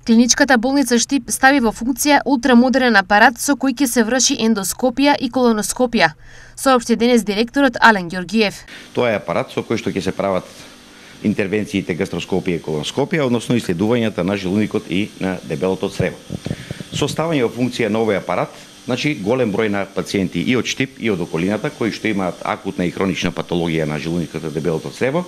Клиничката болница Штип стави во функција ултрамодерен апарат со кој ќе се врши ендоскопија и колоноскопија, соопшти денес директорот Ален Ѓоргиев. Тоа е апарат со кој што ќе се прават интервенциите гастроскопија и колоноскопија, односно исследувањата на желуникот и на дебелото црево. Со ставање во функција на овој апарат, значи голем број на пациенти и од Штип и од околината кои што имаат акутна и хронична патологија на желуникот и дебелото црево,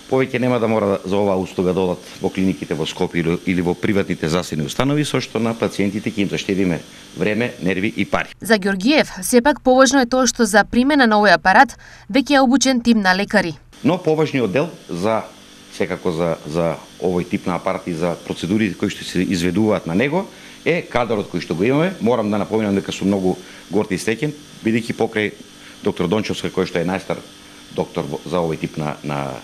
повеќе нема да мора за оваа услуга да одат во клиниките во Скопје или во приватните здравствени установи, со што на пациентите ќе им заштедиме време, нерви и пари. За Ѓоргиев, сепак поважно е тоа што за примена на овој апарат веќе е обучен тим на лекари. Но поважниот дел секако за овој тип на апарат и за процедурите кои што се изведуваат на него е кадрот кој што го имаме. Морам да напомнам дека сум многу горд и среќен, бидејќи покрај доктор Дончовска, кој што е најстар доктор за овој тип на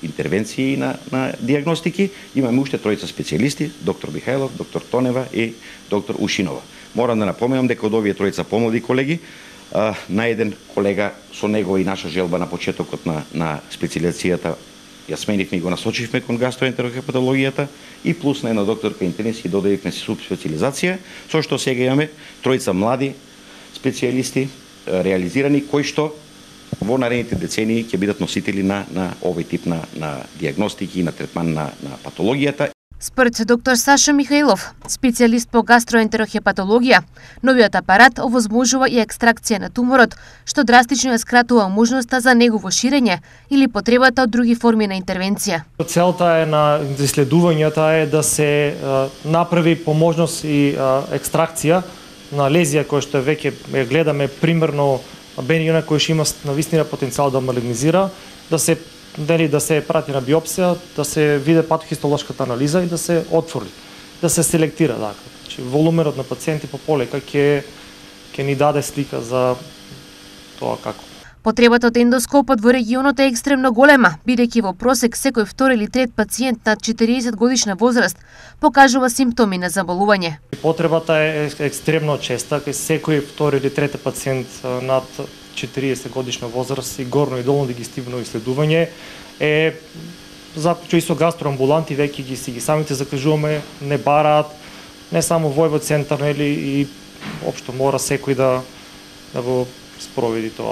интервенции и на диагностики, имаме уште тројца специјалисти, доктор Михајлов, доктор Тонева и доктор Ушинова. Морам да напомнам дека од овие тројца помлади колеги, на еден колега со него и наша желба на почетокот на специализацијата ја сменивме и го насочивме кон гастроентерохепатологијата и плюс на една докторка интернист и додавивме субспециализација, со што сега имаме тројца млади специјалисти реализирани кои што во наредните децении ќе бидат носители на овој тип на диагностики и на третман на патологијата. Според доктор Сашо Михајлов, специјалист по гастроентерохепатологија, новиот апарат овозможува и екстракција на туморот, што драстично ја скратува можноста за негово ширење или потребата од други форми на интервенција. Целта на исследувањата е да се направи по можност и екстракција на лезија која што веќе ја гледаме примерно бениона кој што има навистина потенцијал да малигнизира, да се прати на биопсија, да се види патохистолошката анализа и да се отвори, да се селектира. Значи, волуменот на пациенти по полека ќе ни даде слика за тоа како. Потребата од ендоскопот во регионот е екстремно голема, бидејќи во просек секој втори или трет пациент над 40 годишна возраст покажува симптоми на заболување. Потребата е екстремно честа, кај секој втори или трети пациент над 40 годишна возраст и горно и долно дигестивно исследување е заклучува и со гастроамбуланти, веќе ги самите закажуваме, не бараат не само Војвод центар, нели, и општо мора секој да го спроведи тоа.